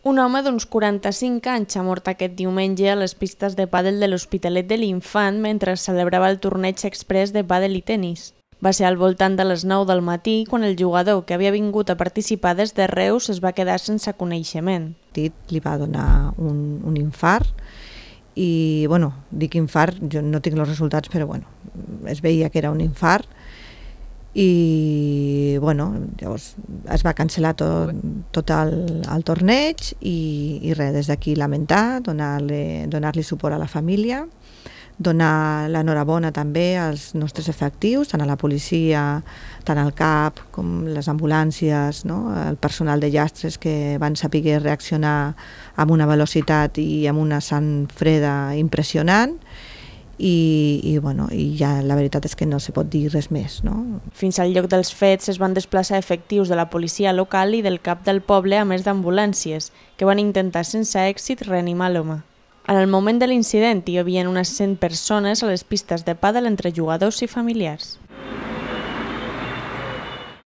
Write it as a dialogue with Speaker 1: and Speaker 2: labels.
Speaker 1: Un home d'uns 45 anys ha mort aquest diumenge a les pistes de pàdel de l'Hospitalet de l'Infant mentre celebrava el torneig express de pàdel i tenis. Va ser al voltant de les 9 del matí quan el jugador, que havia vingut a participar des de Reus, es va quedar sense coneixement.
Speaker 2: Li va donar un infart i, bueno, dic infart, jo no tinc els resultats, però bueno, es veia que era un infart i, bueno, llavors es va cancel·lar tot el torneig i res, des d'aquí lamentar, donar-li suport a la família, donar l'enhorabona també als nostres efectius, tant a la policia, tant al CAP com les ambulàncies, no? El personal de llastres que van saber reaccionar amb una velocitat i amb una sang freda impressionant i ja la veritat és que no se pot dir res més, no?
Speaker 1: Fins al lloc dels fets es van desplaçar efectius de la policia local i del CAP del poble a més d'ambulàncies, que van intentar sense èxit reanimar l'home. En el moment de l'incident hi havia unes 100 persones a les pistes de pàdel entre jugadors i familiars.